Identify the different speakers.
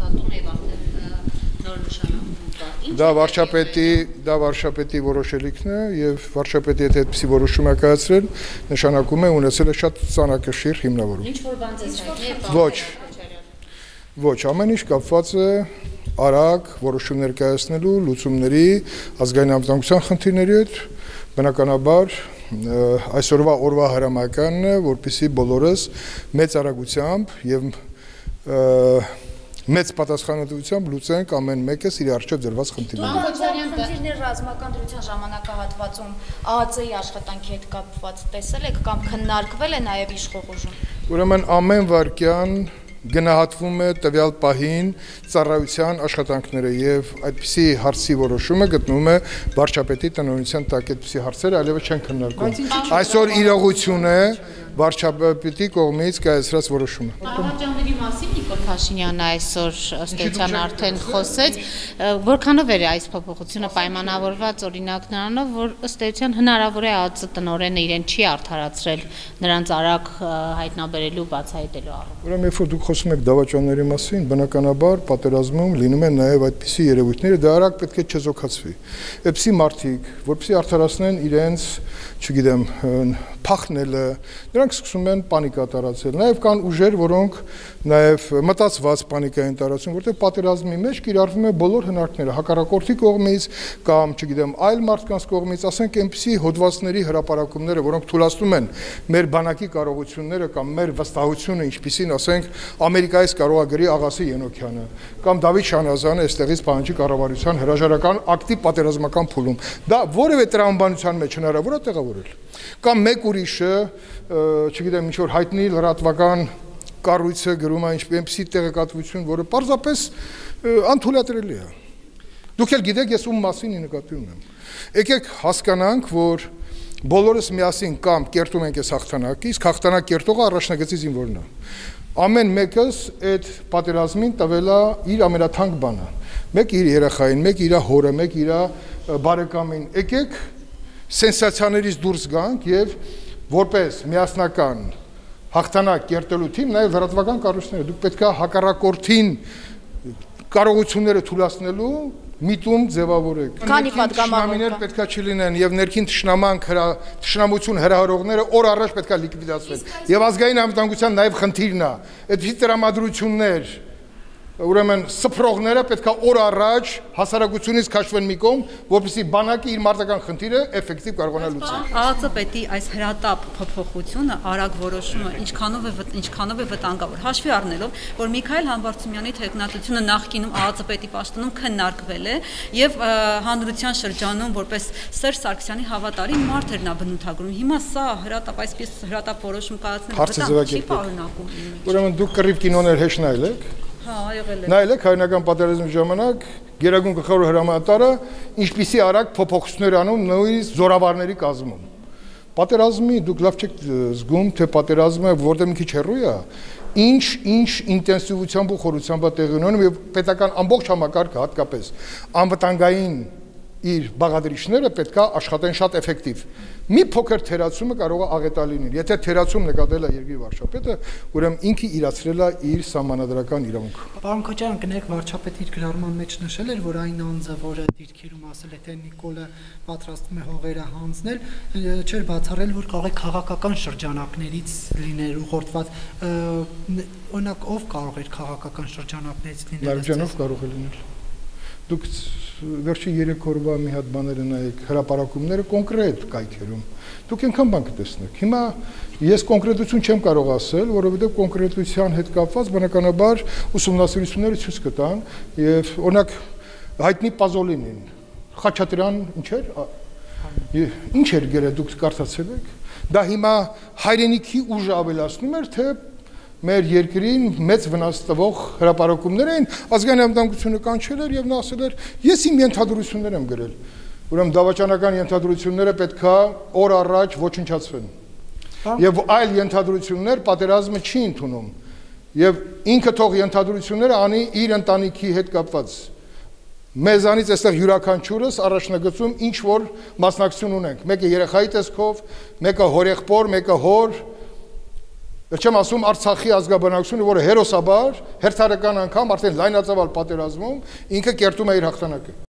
Speaker 1: պատրաստում եւ արդեն նոր նշանակում կա։
Speaker 2: Դա վարչապետի որոշելիքն է եւ վարչապետի հետ այդպիսի որոշում է կայացրել, նշանակում է ունեցել է շատ ծանրակշիռ հիմնավորում։
Speaker 1: Ինչ որ բան ձեզ հայտնի է։
Speaker 2: Ոչ, ամեն ինչ կապված է արագ որոշումներ կայացնելու, լուծումների, ազգային անվտանգության խնդիրների հետ, բնականաբար այսօրվա հրամայականն է, որպեսզի բոլորս մեծ արագությամբ եւ մեծ պատասխանատվությամբ լուծենք ամեն մեկս իր առջև դրված խնդիրները։
Speaker 3: Խնդիրներ ռազմական դրության ժամանակահատվածում ԱԱԾ-ի աշխատանքի հետ կապված տեսել եք կամ քննարկվել է նաև իշխող ուժում։
Speaker 2: Ուրեմն ամեն վայրկյան գնահատվում է տվյալ պահին ծառայության աշխատանքները եւ այդպիսի հարցի որոշումը գտնվում է վարչապետի տնօրինության տակ, այդպիսի հարցերը այլևս չեն քննարկվում։ Այսօր իրողություն է վարչապետի կողմից կայացրած որոշումը։
Speaker 1: Ահավասարների մասին Նիկոլ Փաշինյանը այսօր ըստ էության արդեն խոսեց, որքանով է այս փոփոխությունը պայմանավորված օրինակ նրանով, որ ըստ էության հնարավոր է ԱԱԾ տնօրենը իրեն չի արդարացրել նրանց արագ հայտնաբերելու, բացահայտելու առումով։
Speaker 2: Ուրեմն երբ որ դուք խոսում եք դավաճանների մասին, բնականաբար պատերազմում լինում են նաև այդպիսի երևույթները, դա արագ պետք է չեզոքացվի։ Այդպիսի մարդիկ, որպեսզի արդարացնեն իրենց, չգիտեմ, փախնելը, նրանք սկսում են պանիկա տարածել։ Նաև կան ուժեր, որոնք նաև մտածված պանիկա են տարածում, որտեղ պատերազմի մեջ կիրառվում է բոլոր հնարքները, հակառակորդի կողմից կամ, չգիտեմ, այլ մարդկանց կողմից, ասենք այնպիսի հոդվածների հրապարակումները, որոնք թույլատնում են մեր բանակի կարողությունները կամ մեր վստահությունը, ինչպիսին, ասենք, Ամերիկայից կարող է գրի Աղասի Ենոքյանը կամ Դավիթ Շանազյանը այստեղից պահանջի կառավարության հրաժարական ակտիվ պատերազմական փուլում։ Դա որևէ տրամաբանության մեջ հնարավոր է տեղավորել։ Կամ մեկ ուրիշը, չգիտեմ, ինչ որ հայտնի լրատվական կառույցը գրում է ինչպիսի տեղեկատվություն, որը պարզապես անթույլատրելի է։ Դուք էլ գիտեք, ես ում մասին նկատի ունեմ։ Եկեք հասկանանք, որ բոլորս միասին կամ կերտում ենք այս հաղթանակը, իսկ հաղթանակ կերտողը առաջնագծի զինվորն է։ Ամեն մեկս այդ պատերազմին տվել է իր ամենաթանկ բանը։ Մեկ իր երեխային, մեկ իր հորը, մեկ իր բարեկամին։ Եկեք սենսացիաներից դուրս գանք եւ որպես միասնական հաղթանակ կերտելու թիմ նաեւ լրատվական կառույցները դուք պետք է հակառակորդին կարողությունները թույլատնելու միտում ձևավորեք։
Speaker 3: Քանի պատգամավորներ
Speaker 2: պետք է չլինեն եւ ներքին թշնամություն հրահրողները օր առաջ պետք է լիկվիդացվեն։ Եվ ազգային անվտանգության նաեւ խնդիրն է։ Այդպիսի տրամադրություններ, ուրեմն սփռողները պետք է օր առաջ հասարակությունից քաշվեն մի կողմ, որպեսզի բանակի իր մարտական խնդիրը էֆեկտիվ կարողանա լուծել։
Speaker 4: ԱԱԾ պետի այս հրատապ փոփոխությունը, արագ որոշումը ինչքանով է վտանգավոր, հաշվի առնելով, որ Միքայել Համբարձումյանի թեկնածությունը նախկինում ԱԱԾ պետի պաշտոնում քննարկվել է եւ հանրության շրջանում որպես Սերժ Սարգսյանի հավատարիմ մարդ էր նա բնութագրում։ Հիմա սա հրատապ այսպես հրատապ որոշում կայացնելը չի պարունակում։
Speaker 2: Ուրեմն դուք կռիվ կինոներ հեշտ նայել եք։ Նայել եք հայրենական պատերազմի ժամանակ Գերագույն գլխավոր հրամանատարը ինչպիսի արագ փոփոխություններ անում նույնիսկ զորավարների կազմում։ Պատերազմի դուք լավ չեք զգում, թե պատերազմը որտեղ մի քիչ հեռու է, ինչ ինտենսիվությամբ ու խորությամբ է տեղի ունենում եւ պետական ամբողջ համակարգը հատկապես անվտանգային իր բաղադրիչները պետք է աշխատեն շատ էֆեկտիվ։ Մի փոքր թերացումը կարող է աղետալի լինել։ Եթե թերացում նկատել է երկրի վարչապետը, ուրեմն ինքը իրացրել է իր սահմանադրական իրավունքը։
Speaker 5: Պարոն Քոչարյան, կներեք, վարչապետը իր գրառման մեջ նշել էր, որ այն անձը, որը դիրքերում ասել է, թե Նիկոլը պատրաստվում է հողերը հանձնել, չէր բացառել, որ կարող է քաղաքական շրջանակներից լիներ ուղղորդված։ Օրինակ, ով կարող էր քաղաքական շրջանակներից լինել։
Speaker 2: Լարուջանով կարող է լինել։ Դուք վերջի 3 օրվա մի հատ բաները նայեք, հրապարակումները կոնկրետ կայքերում։ Դուք այնքան բան կտեսնեք։ Հիմա ես կոնկրետություն չեմ կարող ասել, որովհետև կոնկրետության հետ կապված բնականաբար ուսումնասիրությունները ցույց կտան եւ օրինակ հայտնի Պազոլինին, Խաչատրյան ինչ էր գրել, դուք կարդացել եք։ Դա հիմա հայրենիքի ուժը ավելացնում էր, թե մեր երկրին մեծ վնաս տվող հրապարակումներ էին, ազգային անվտանգությունը կանչել էր եւ նա ասել էր, ես իմ ենթադրություններ եմ գրել։ Ուրեմն դավաճանական ենթադրությունները պետքա օր առաջ ոչնչացվեն։ Եվ այլ ենթադրություններ պատերազմը չի ընդունում։ Եվ ինքը թող ենթադրությունները անի իր ընտանիքի հետ կապված։ Մեզանից այստեղ յուրաքանչյուրս առաջնագծում ինչ որ մասնակցություն ունենք։ Մեկը երեխայի տեսքով, մեկը հորեղբոր, մեկը հոր Չեմ ասում Արցախի ազգաբնակությունը, որը հերոսաբար հերթարական անգամ արդեն լայնածավալ պատերազմում ինքը կերտում է իր հաղթանակը։